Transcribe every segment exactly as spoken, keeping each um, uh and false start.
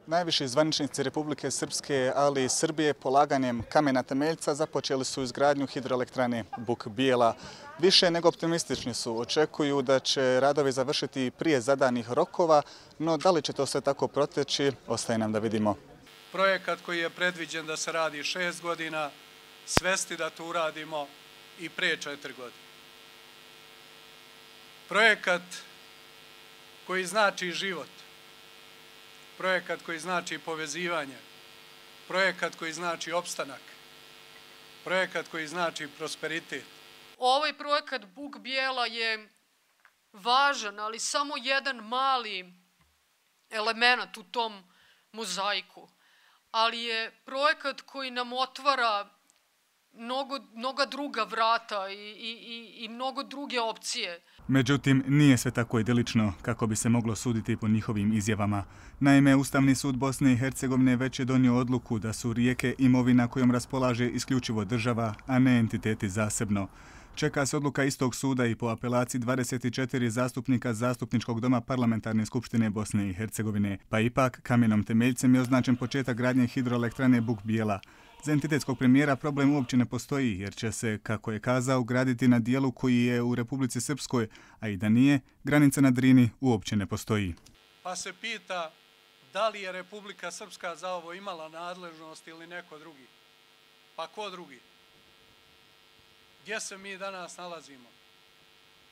Najviši zvaničnici Republike Srpske, ali i Srbije, polaganjem kamena temeljca započeli su izgradnju hidroelektrane Buk Bijela. Više nego optimistični su, očekuju da će radovi završiti prije zadanih rokova, no da li će to sve tako proteći, ostaje nam da vidimo. Projekat koji je predviđen da se radi šest godina, svesti da to uradimo i prije četiri godine. Projekat koji znači život, projekat koji znači povezivanje, projekat koji znači opstanak, projekat koji znači prosperitet. Ovaj projekat Buk Bijela je važan, ali samo jedan mali element u tom mozaiku. Ali je projekat koji nam otvara mnogo, mnoga druga vrata i, i, i mnogo druge opcije. Međutim, nije sve tako idilično kako bi se moglo suditi po njihovim izjavama. Naime, Ustavni sud Bosne i Hercegovine već je donio odluku da su rijeke imovina kojom raspolaže isključivo država, a ne entiteti zasebno. Čeka se odluka istog suda i po apelaciji dvadeset četiri zastupnika Zastupničkog doma Parlamentarne skupštine Bosne i Hercegovine, pa ipak kamenom temeljcem je označen početak gradnje hidroelektrane Buk Bijela. Za entitetskog premijera problem uopće ne postoji, jer će se, kako je kazao, graditi na dijelu koji je u Republici Srpskoj, a i da nije, granica na Drini uopće ne postoji. Pa se pita da li je Republika Srpska za ovo imala nadležnost ili neko drugi. Pa ko drugi? Gdje se mi danas nalazimo?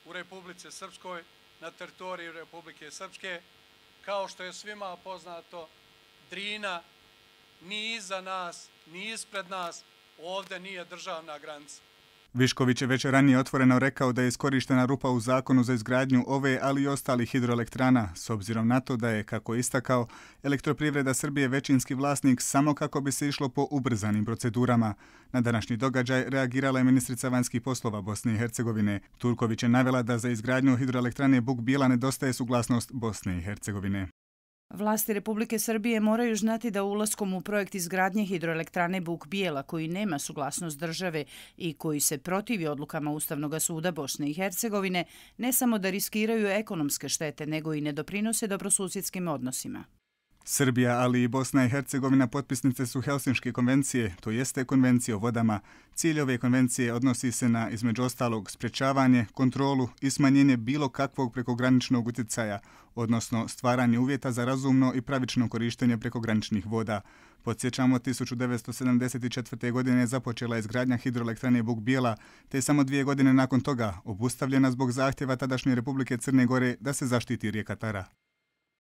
U Republici Srpskoj, na teritoriji Republike Srpske. Kao što je svima poznato, Drina ni iza nas, ni ispred nas, ovdje nije državna granica. Višković je već ranije otvoreno rekao da je iskorištena rupa u zakonu za izgradnju ove, ali i ostalih hidroelektrana, s obzirom na to da je, kako je istakao, Elektroprivreda Srbije većinski vlasnik samo kako bi se išlo po ubrzanim procedurama. Na današnji događaj reagirala je ministrica vanjskih poslova Bosne i Hercegovine. Turković je navela da za izgradnju hidroelektrane Buk Bijela nedostaje suglasnost Bosne i Hercegovine. Vlasti Republike Srbije moraju znati da ulaskom u projekt izgradnje hidroelektrane Buk Bijela, koji nema suglasnost države i koji se protivi odlukama Ustavnog suda Bosne i Hercegovine, ne samo da riskiraju ekonomske štete, nego i ne doprinose dobrosusjedskim odnosima. Srbija, ali i Bosna i Hercegovina potpisnice su Helsinške konvencije, to jeste konvencije o vodama. Cilj ove konvencije odnosi se na, između ostalog, sprečavanje, kontrolu i smanjenje bilo kakvog prekograničnog utjecaja, odnosno stvaranje uvjeta za razumno i pravično korištenje prekograničnih voda. Podsjećamo, tisuću devetsto sedamdeset četvrte. godine započela izgradnja hidroelektrane Buk Bijela, te samo dvije godine nakon toga obustavljena zbog zahtjeva tadašnje Republike Crne Gore da se zaštiti rijeka Tara.